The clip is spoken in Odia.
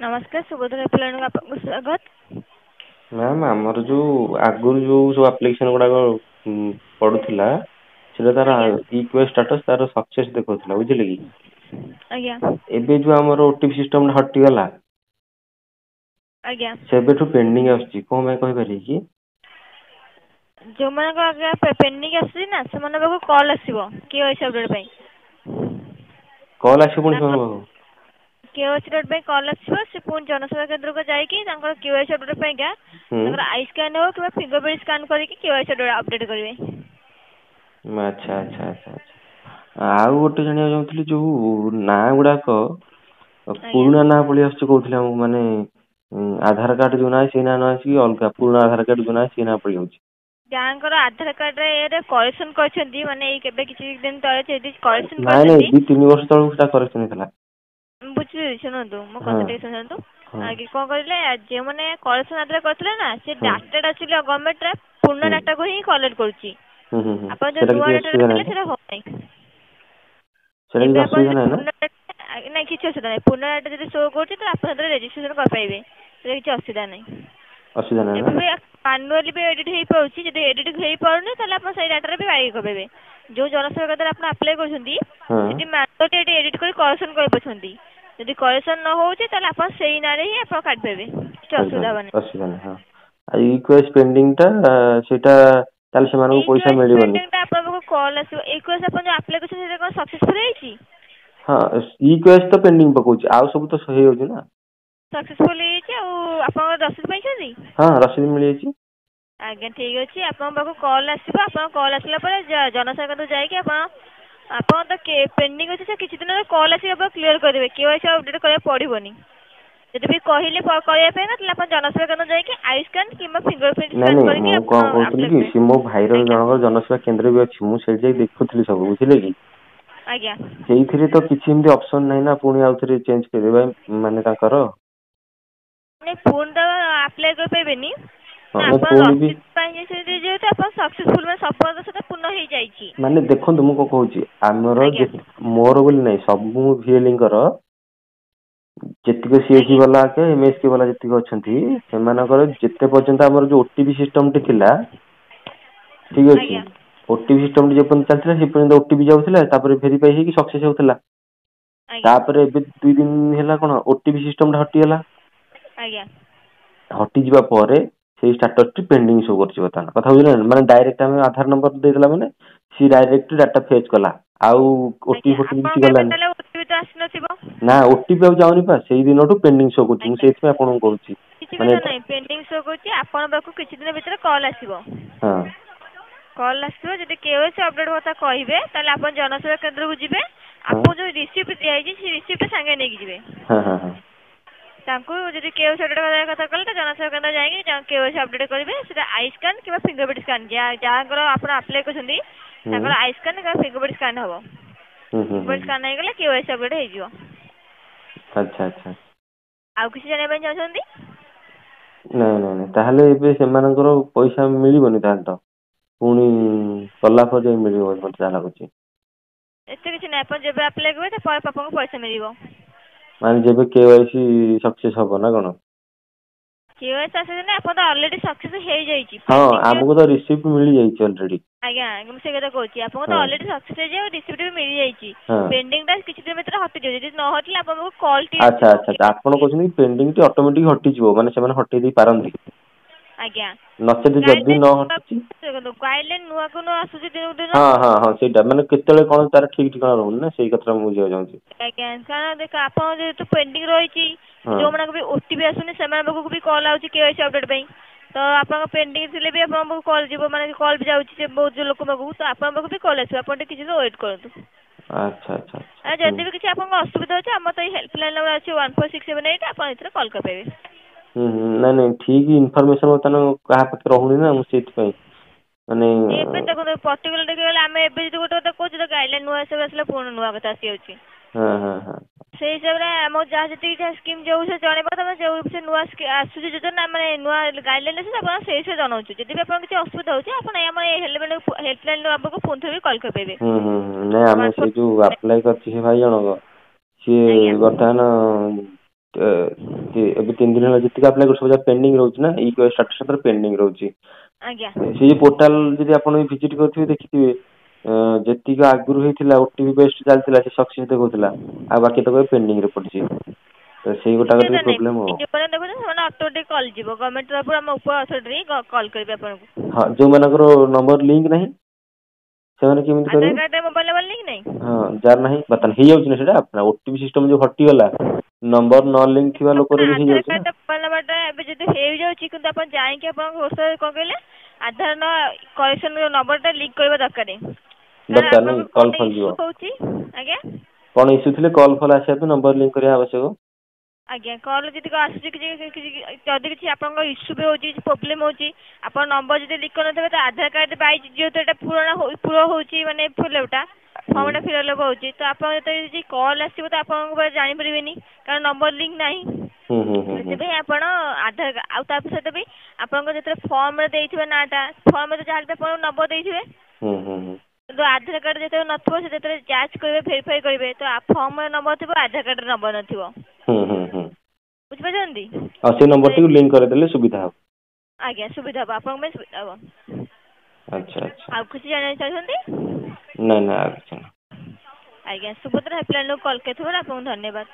ନମସ୍କାର, ସୁଭଦ୍ରା ହେଲ୍ପଲାଇନକୁ ଆପଣଙ୍କୁ ସ୍ୱାଗତ। ମ୍ୟାମ୍, ଆମର ଯୋଉ ଆଗରୁ ଯୋଉ ସବୁ ଆପ୍ଲିକେସନ ଗୁଡାକ ପଡୁଥିଲା, ସେଟା ତାର ଇ କେୱାଇସି ଷ୍ଟାଟସ୍ ତାର ସକ୍ସେସ୍ ଦେଖଉଥିଲା, ବୁଝିଲେ କି? ଆଜ୍ଞା। ଏବେ ଯୋଉ ଆମର ଓଟିପି ସିଷ୍ଟମ ଟା ହଟିଗଲା, ସେବେଠୁ ପେଣ୍ଡିଂ ଆସୁଛି। କଣ ପାଇଁ, କହିପାରିବେ କି? ଯୋଉମାନଙ୍କ ଆଜ୍ଞା ପେଣ୍ଡିଂ ଆସୁଛି ନା, ସେମାନଙ୍କ ପାଖକୁ କଲ୍ ଆସିବ କେୱାଇସି ଅପଡେଟ୍ ପାଇଁ। କଲ୍ ଆସିବ ପୁଣି ସେମାନଙ୍କ ପାଖକୁ? କେୱାଇସି ଅପଡେଟ୍ ପାଇଁ କଲ୍ ଆସିବ। ସେ ପୁଣି ଜନସେବା କେନ୍ଦ୍ରକୁ ଯାଇକି ତାଙ୍କର କେୱାଇସି ଅପଡେଟ୍ ପାଇଁକା ତାଙ୍କର I scan ହଉ କିମ୍ବା ଫିଙ୍ଗର ପ୍ରିଣ୍ଟ ସ୍କାନ୍ କରିକି କେୱାଇସି ଅପଡେଟ୍ କରିବେ। ଆଚ୍ଛା, ଆଉ ଗୋଟେ ଜାଣିବାକୁ ଚାହୁଁଥିଲି, ଯୋଉ ନାଁ ଗୁଡାକ ପୁରୁଣା ନାଁ ପଳେଇ ଆସୁଛି କହୁଥିଲେ ଆମକୁ, ମାନେ ଆଧାର କାର୍ଡ ଯୋଉ ନାଁ ସେଇ ନାଁ ନ ଆସିକି ଅଲଗା ପୁରୁଣା ଆଧାର କାର୍ଡ ଯୋଉ ନାଁ ସେଇ ନାଁ ପଳେଇ ଯାଉଛି। ଯାହାଙ୍କର ଆଧାର କାର୍ଡରେ ଇଏରେ କରେକ୍ସନ କରିଛନ୍ତି, ମାନେ ଏଇ କେବେ କିଛି ଦିନ ତଳେ ଯଦି କରେକ୍ସନ ନାଇଁ ନାଇଁ କରିଛନ୍ତି। 2-3 ବର୍ଷ ତଳକୁ ସେଟା କରେକ୍ସନ ହେଇଥିଲା। ବୁଝିଲି, ଶୁଣନ୍ତୁ, ମୋ କଥା ଟିକେ ଶୁଣନ୍ତୁ। ଆଗେ କଣ କରିଲେ, ଯେଉଁମାନେ କରେକ୍ସନ ଆଧାର କରିଥିଲେ ନା, ସେ ଡାଟାଟା ଆକ୍ଚୁଆଲି ଗଭର୍ଣ୍ଣମେଣ୍ଟରେ ପୁରୁଣା ଡାଟାକୁ ହିଁ କଲେକ୍ଟ କରୁଛି। ହୁଁ ହୁଁ ହୁଁ ଆପଣ ଯୋଉ ସେଟା ନୂଆ କିଛି ଡାଟାଟା ଅସୁବିଧା ଦେଲେ ନାହିଁ ତ? ସେଟା ହଉନାହିଁ। ସେଟା ଏବେ କିଛି ଆପଣ ଅସୁବିଧା ଯଦି ନାହିଁ ନା? ପୁରୁଣା, ନାଇଁ, କିଛି ଅସୁବିଧା ନାହିଁ। ପୁରୁଣା ଡାଟା ଯଦି ଶୋ କରୁଛି ତ ଆପଣ ସେଥିରେ ରେଜିଷ୍ଟ୍ରେସନ କରିପାରିବେ, ସେଥିରେ କିଛି ଅସୁବିଧା ନାହିଁ। ଅସୁବିଧା ନାହିଁ ଏବେ ନା? ବି ମାନୁଆଲି ବି ଏଡିଟ୍ ହେଇପାରୁଛି। ଯଦି ଏଡିଟ୍ ହେଇପାରୁନି, ତାହେଲେ ଆପଣ ସେଇ ଡାଟାରେ ବି ବାଇ କରିପାରିବେ। ଯୋଉ ଜନସେବା କେନ୍ଦ୍ରରେ ଆପଣ ଆପ୍ଲାଏ କରୁଛନ୍ତି, ସେଠି ମାନୁଆଲି ଏଠି ଏଡିଟ୍ କରି କରେକ୍ସନ କରିପାରୁଛନ୍ତି। ଯଦି କରେକ୍ସନ ନ ହଉଛି, ତାହେଲେ ଆପଣ ସେଇ ନାଁରେ ହିଁ ଆପଣ କାଟିପାରିବେ, କିଛି ଅସୁବିଧା କରିପାରିବେ ହବନି। ଅସୁବିଧା ନାହିଁ, ହଁ। ଆଉ ଇ କେୱାଇସି ପେଣ୍ଡିଂ ଟା, ସେଇଟା ତାହେଲେ ସେମାନଙ୍କୁ ଇ ପଇସା କେୱାଇସି ମିଳିବନି? ପେଣ୍ଡିଂ ଟା ଆପଣଙ୍କ ପାଖକୁ କଲ୍ ଆସିବ। ଇ କେୱାଇସି ଆପଣ ଯୋଉ ଆପ୍ଲାଏ କରିଛନ୍ତି, ସେଇଟା କଣ ସକ୍ସେସଫୁଲ ହେଇଛି? ହଁ, ଇ କେୱାଇସି ତ ପେଣ୍ଡିଂ ପକଉଛି, ଆଉ ସବୁ ତ ହେଇଯାଉଛି ନା। ସକ୍ସେସଫୁଲ ହେଇଯାଇଛି ଆଉ ଆପଣଙ୍କ ରସିଦ ପାଇଛନ୍ତି? ହଁ, ରସିଦ ମିଳିଯାଇଛି। ଆଜ୍ଞା, ଠିକ୍ ଅଛି। ଆପଣଙ୍କ ପାଖକୁ କଲ୍ ଆସିବ। ଆପଣଙ୍କ କଲ୍ ଆସିଲା ପରେ ଜନସେବା କେନ୍ଦ୍ର ଯାଇକି ଆପଣ ଆପଣ ତ ପେଣ୍ଡିଂ ଅଛି, ସେ କିଛି ଦିନରେ କଲ୍ ଆସିକି ଆପଣ କ୍ଲିୟର କରିଦେବେ। କେୱାଇସି ଅପଡେଟ୍ କରିବାକୁ ପଡ଼ିବନି। ଯଦି ବି କହିଲେ କରିବା ପାଇଁ ନା, ତାହେଲେ ଆପଣ ଜନସେବା କେନ୍ଦ୍ର ଯାଇକି I scan କିମ୍ବା ଫିଙ୍ଗର ପ୍ରିଣ୍ଟ ନାଇଁ ସ୍କାନ୍ ନାଇଁ କରିକି ମୁଁ ଆପଣ କଣ କହୁଥିଲି ଆପ୍ଲାଏ କି, କରିବେ। ସେ ମୋ ଭାଇର ଜଣଙ୍କର ଜନସେବା କେନ୍ଦ୍ର ବି ଅଛି। ମୁଁ ସେଇଠି ଯାଇ ଦେଖୁଥିଲି ସବୁ, ବୁଝିଲେ କି? ଆଜ୍ଞା। ସେଇଥିରେ ତ କିଛି ଏମିତି ଅପସନ ନାହିଁ ନା, ପୁଣି ଆଉ ଥରେ ଚେଞ୍ଜ କରିବା ମାନେ ତାଙ୍କର? ନାଇଁ, ପୁଣି ତ ଆପ୍ଲାଏ କରିପାରିବେନି ନା। ନାଇଁ ଆପଣ ପୁଣି ବି ରସିଦ ପାଇଯାଇଛନ୍ତି ଯେହେତୁ, ଆପଣ ସକ୍ସେସଫୁଲ, ମାନେ ସଫଳତାର ସହିତ ପୂର୍ଣ୍ଣ ହେଇଯାଇଛି। ମାନେ ଦେଖନ୍ତୁ, ମୁଁ କଣ କହୁଛି, ଆମର ମୋର ବୋଲି ନାହିଁ, ସବୁ ଭିଏଲିଙ୍କର ଯେତିକ ସିଏସି ବାଲା, ଏମଏସକେ ବାଲା ଯେତିକି ଅଛନ୍ତି, ସେମାନଙ୍କର ଯେତେ ପର୍ଯ୍ୟନ୍ତ ଆମର ଯୋଉ ଓଟିପି ସିଷ୍ଟମ ଟି ଥିଲା, ଠିକ ଅଛି, ଓଟିପି ସିଷ୍ଟମ ଟି ଯେପର୍ଯ୍ୟନ୍ତ ଚାଲିଥିଲା, ସେ ପର୍ଯ୍ୟନ୍ତ ଓଟିପି ଯାଉଥିଲା, ତାପରେ ଭେରିଫାଇ ହେଇକି ସକ୍ସେସ ହଉଥିଲା। ତାପରେ ଏବେ 2 ଦିନ ହେଲା କଣ ଓଟିପି ସିଷ୍ଟମ ଟା ହଟିଗଲା। ହଟିଯିବା ପରେ ସେଇ ଷ୍ଟାଟସ ଟି ପେଣ୍ଡିଂ ଶୋ କରୁଛି ବର୍ତ୍ତମାନ। କଥା ବୁଝିଲେ? ମାନେ ଡାଇରେକ୍ଟ ଆମେ ଆଧାର ନମ୍ବର ଦେଇଦେଲା ମାନେ ସିଏ ଡାଇରେକ୍ଟ ଡାଟା ଫେଚ୍ କଲା, ଆଉ ଓଟିପି ଫୋଟିପି କିଛି ଆପଣଙ୍କ ଏବେ ଗଲାନି। ତାହେଲେ ଓଟିପି ତ ଆସିନଥିବ? ନା, ଓଟିପି ଆଉ ଯାଉନି ପା। ସେଇ ଦିନଠୁ ପେଣ୍ଡିଂ ଶୋ କରୁଛି। ମୁଁ ସେଇଥିପାଇଁ ଆପଣଙ୍କୁ କହୁଛି। କିଛି ମାନେ କଥା ନାହିଁ, ପେଣ୍ଡିଂ ଶୋ କରୁଛି, ଆପଣଙ୍କ ପାଖକୁ କିଛି ଦିନ ଭିତରେ କଲ୍ ଆସିବ। କଲ୍ ଆସିବ, ଯଦି କେୱାଇସି ଅପଡେଟ୍ କଥା କହିବେ, ତାହେଲେ ଆପଣ ଜନସେବା କେନ୍ଦ୍ରକୁ ଯିବେ। ଆପଣଙ୍କୁ ଯୋଉ ରିସିପ୍ଟ ଦିଆହେଇଛି, ସେ ରିସିପ୍ଟ ସାଙ୍ଗେ ନେଇକି ଯିବେ। ହଁ ହଁ ହଁ ତାଙ୍କୁ ଯଦି କେୱାଇସି ଅପଡେଟ୍ କରିବା କଥା କହିଲେ, ତ ଜନସେବା କେନ୍ଦ୍ର ଯାଇକି କେୱାଇସି ଅପଡେଟ୍ କରିବେ। ସେଟା I scan କିମ୍ବା ଫିଙ୍ଗର ପ୍ରିଣ୍ଟ ସ୍କାନ୍। ଯାହାଙ୍କର ଆପଣ ଆପ୍ଲାଏ କରିଛନ୍ତି, ତାଙ୍କର I scan କିମ୍ବା ଫିଙ୍ଗର ପ୍ରିଣ୍ଟ ସ୍କାନ୍ ହବ। ହୁଁ ହୁଁ ଫିଙ୍ଗର ପ୍ରିଣ୍ଟ ସ୍କାନ୍ ହେଇଗଲେ କେୱାଇସି ଅପଡେଟ୍ ହେଇଯିବ। ଆଚ୍ଛା। ଆଉ କିଛି ଜାଣିବା ପାଇଁ ଚାହୁଁଛନ୍ତି? ନାଇଁ, ତାହେଲେ ଏବେ ସେମାନଙ୍କର ପଇସା ମିଳିବନି ତାହେଲେ ତ? ପୁଣି କଲା ପରେ ଯାଇ ମିଳିବ ମତେ ଯାହା ଲାଗୁଛି। ଏତେ କିଛି ନାହିଁ। ଆପଣ ଯେବେ ଆପ୍ଲାଏ କରିବେ, ତା ପରେ ଆପଣଙ୍କୁ ପଇସା ମିଳିବ। ମାନେ ଯେବେ କେୱାଇସି ସକ୍ସେସ ହବ ନା କଣ? କେୱାଇସି ସକ୍ସେସ୍ ନା, ଆପଣ ତ ଅଲରେଡି ସକ୍ସେସ୍ ହେଇଯାଇଛି। ହଁ, ପେଣ୍ଡିଂ। ଆମକୁ ତ ରିସିପ୍ଟ ମିଳିଯାଇଛି ଅଲରେଡି। ଆଜ୍ଞା, ମୁଁ ସେଇ କଥା କହୁଛି। ଆପଣଙ୍କୁ ତ ଅଲରେଡି ସକ୍ସେସ୍ ହେଇଯାଇଛି ଆଉ ରିସିପ୍ଟ ବି ମିଳିଯାଇଛି। ପେଣ୍ଡିଂଟା କିଛି ଦିନ ଭିତରେ ହଟିଯିବ। ଯଦି ନ ହଟିଲା, ଆପଣଙ୍କ ପାଖକୁ କଲ୍ ଟି ଆଚ୍ଛା ଆସିବ। ଆଚ୍ଛା, ଆପଣ କହୁଛନ୍ତି ପେଣ୍ଡିଂ ଟି ଅଟୋମେଟିକ ହଟିଯିବ, ମାନେ ସେମାନେ ହଟେଇ ଦେଇ ପାରନ୍ତି? ଆଜ୍ଞା। ନଚେତ ଯଦି ନ ହଟିଛି? ଦେଖନ୍ତୁ, ଗାଇଡଲାଇନ ନୂଆକୁ ନୂଆ ଆସୁଛି ଦିନକୁ ଦିନ। ହଁ, ସେଇଟା ମାନେ କେତେବେଳେ କଣ ତାର ଠିକ ଠିକଣା ରହୁନି ନା, ସେଇ କଥାଟା ମୁଁ ବୁଝିବାକୁ ଚାହୁଁଛି। ଆଜ୍ଞା, କାରଣ ଦେଖ, ଆପଣ ଯେହେତୁ ପେଣ୍ଡିଂ ରହିଛି, ଯୋଉମାନଙ୍କୁ ବି ଓଟିପି ଆସୁନି, ସେମାନଙ୍କ ପାଖକୁ ବି କଲ୍ ଆଉଛି କେୱାଇସି ଅପଡେଟ୍ ପାଇଁ। ତ ଆପଣଙ୍କ ପେଣ୍ଡିଂ ଥିଲେ ବି ଆପଣଙ୍କ ପାଖକୁ କଲ୍ ଯିବ, ମାନେ କଲ୍ ବି ଯାଉଛି ସେ ବହୁତ ଲୋକଙ୍କ ପାଖକୁ, ତ ଆପଣଙ୍କ ପାଖକୁ ବି କଲ୍ ଆସିବ। ଆପଣ ଟିକେ କିଛି ସମୟ ୱେଟ୍ କରନ୍ତୁ। ଆଚ୍ଛା। ଆଉ ଯଦି ବି କିଛି ଆପଣଙ୍କ ଅସୁବିଧା ଅଛି, ଆମର ତ ଏଇ ହେଲ୍ପଲାଇନ୍ ନମ୍ବର ଅଛି 14678, ଆପଣ ଏଥିରେ କଲ୍ କରିପାରିବେ। ହୁଁ ହୁଁ ନାଇଁ ନାଇଁ, ଠିକ ଇନଫରମେସନ ବର୍ତ୍ତମାନ କାହା ପାଖରେ ରହୁନି ନା, ମୁଁ ସେଇଥିପାଇଁ ମାନେ ଏବେ ଦେଖନ୍ତୁ, ପର୍ଟିକୁଲାର ଦେଖିବାକୁ ଗଲେ ଆମେ ଏବେ ଯଦି ଗୋଟେ କଥା କହୁଛୁ, ତ ଗାଇଡଲାଇନ୍ ନୂଆ ହିସାବରେ ଆସିଲା, ପୁଣି ନୂଆ କଥା ଆସିଯାଉଛି। ହଁ ହଁ ହଁ ସେଇ ହିସାବରେ ଆମ ଯାହା ଯେତିକି ଯାହା ସ୍କିମ୍ ଯୋଉ ବିଷୟରେ ଜଣେଇବା କଥା, ଯୋଉ ସେ ନୂଆ ଆସୁଛି ଯୋଜନା, ମାନେ ନୂଆ ଗାଇଡଲାଇନ୍ ଆସୁଛି, ଆପଣ ସେଇ ବିଷୟରେ ଜଣାଉଛୁ। ଯଦି ବି ଆପଣଙ୍କ କିଛି ଅସୁବିଧା ହେଉଛି, ଆପଣ ଏଇ ଆମ ଏଇ ହେଲ୍ପଲାଇନ୍ ନମ୍ବରକୁ ପୁଣି ଥରେ ବି କଲ୍ କରିପାରିବେ। ହୁଁ ହୁଁ ହୁଁ ନାଇଁ, ଆମେ ସେଇ ଯୋଉ ଆପ୍ଲାଏ କରିଛି ସେ ଭାଇ ଜଣକ, ସିଏ ବର୍ତ୍ତମାନ ଏବେ 3 ଦିନ ହେଲା ଯେତିକି ଆପ୍ଲାଏ କରୁଛୁ, ସବୁ ପେଣ୍ଡିଂ ରହୁଛି ନା, ଇ ଷ୍ଟାଟସ୍ ଉପରେ ପେଣ୍ଡିଂ ରହୁଛି। ସେଇ ଯୋଉ ପୋର୍ଟାଲ ଯଦି ଆପଣ ଭିଜିଟ୍ କରିଥିବେ, ଦେଖିଥିବେ, ଯେତିକି ଆଗରୁ ହେଇଥିଲା ଓଟିପି ବେସ୍ଡ ଚାଲିଥିଲା, ସେ ସକ୍ସେସ୍ ଦେଖଉଥିଲା, ଆଉ ବାକି ତକ ପେଣ୍ଡିଂ ରେ ପଡିଛି। ତ ସେଇ ଗୋଟାକ ଟିକେ ପ୍ରୋବ୍ଲେମ ଆଉ। ଯେଉଁମାନେ ଦେଖୁଛନ୍ତି, ସେମାନେ ଅଟୋମେଟିକ୍ କଲ୍ ଯିବ ଗଭର୍ଣ୍ଣମେଣ୍ଟ ତରଫରୁ, ଆମ ଉପର ଅଥରିଟି କଲ୍ କରିବେ ଆପଣଙ୍କୁ। ହଁ, ଯୋଉମାନଙ୍କର ନମ୍ବର ଲିଙ୍କ ନାହିଁ, ସେମାନେ କେମିତି ଆଧାର କରିବେ? କାର୍ଡରେ ମୋବାଇଲ ନମ୍ବର ଲିଙ୍କ ନାହିଁ? ହଁ, ଯାହାର ନାହିଁ, ବର୍ତ୍ତମାନ ହେଇଯାଉଛି ନା ସେଇଟା। ଓଟିପି ସିଷ୍ଟମ ଯୋଉ ହଟିଗଲା, ନମ୍ବର ନ ଲିଙ୍କ ଥିବା ଲୋକର ବି ଆଧାର ହେଇଯାଉଛି ନା। କାର୍ଡ ମୋବାଇଲ ନମ୍ବରଟା ଏବେ ଯଦି ହେଇଯାଉଛି, କିନ୍ତୁ ଆପଣ ଯାଇକି ଆପଣଙ୍କ କଣ କହିଲେ, ଆଧାର ନ କରେକ୍ସନ ନମ୍ବରଟା ଲିଙ୍କ କରିବା ଦରକାର, କାରଣ ଦରକାର ନାହିଁ। ଆପଣଙ୍କ କଲ୍ କଣ ଫଲ୍ ଯିବ। ଇସ୍ୟୁ ହଉଛି ଆଜ୍ଞା? କଣ ଇସ୍ୟୁ ଥିଲେ କଲ୍ ଫଲ୍ ଆସିବା ପାଇଁ ନମ୍ବର ଲିଙ୍କ କରିବା ଆବଶ୍ୟକ। ଆଜ୍ଞା, କଲ୍ ଯଦି ଆସୁଛି, କିଛି କିଛି ଯଦି କିଛି ଆପଣଙ୍କ ଇସ୍ୟୁ ବି ହେଉଛି, କିଛି ପ୍ରୋବ୍ଲେମ୍ ହେଉଛି, ଆପଣ ନମ୍ବର ଯଦି ଲିଙ୍କ କରିନଥିବେ, ତ ଆଧାର କାର୍ଡ ବାଇ ଯେହେତୁ ଏଇଟା ପୂରଣ ପୂରଣ ହେଉଛି, ମାନେ ଫିଲ୍ଅପ୍ଟା ଫର୍ମଟା ଫିଲ୍ଅପ୍ ହେଉଛି, ତ ଆପଣ ଯେତେବେଳେ ଯଦି କଲ୍ ଆସିବ, ତ ଆପଣଙ୍କ ପାଖରେ ଜାଣିପାରିବେନି, କାରଣ ନମ୍ବର ଲିଙ୍କ ନାହିଁ। ହୁଁ ହୁଁ ହୁଁ ହୁଁ ସେଥିପାଇଁ ଆପଣ ଆଧାର, ଆଉ ତା ସହିତ ବି ଆପଣଙ୍କ ଯେତେବେଳେ ଫର୍ମରେ ଦେଇଥିବେ ନାଁଟା, ଫର୍ମରେ ଯାହାହେଲେ ବି ଆପଣ ନମ୍ବର ଦେଇଥିବେ, ହୁଁ ହୁଁ ହୁଁ କିନ୍ତୁ ଆଧାର କାର୍ଡ ଯେତେବେଳେ ନଥିବ, ସେ ଯେତେବେଳେ ଯାଞ୍ଚ କରିବେ, ଭେରିଫାଇ କରିବେ, ତ ଫର୍ମରେ ନମ୍ବର ଥିବ, ଆଧାର କାର୍ଡରେ ନମ୍ବର ନଥିବ। ହୁଁ ହୁଁ ହୁଁ ବୁଝିପାରୁଛନ୍ତି? ଆଉ ସେଇ ନମ୍ବରଟିକୁ ଲିଙ୍କ କରିଦେଲେ ସୁବିଧା ହବ। ଆଜ୍ଞା, ସୁବିଧା ହବ, ଆପଣଙ୍କ ପାଇଁ ସୁବିଧା ହବ। ଆଚ୍ଛା। ଆଉ କିଛି ଜାଣିବାକୁ ଚାହୁଁଛନ୍ତି? ନାଇଁ ନାଇଁ, ଆଉ କିଛି ନାହିଁ। ଆଜ୍ଞା, ସୁଭଦ୍ରା ହେଲ୍ପଲାଇନକୁ କଲ୍ କରିଥିବାରୁ ଆପଣଙ୍କୁ ଧନ୍ୟବାଦ।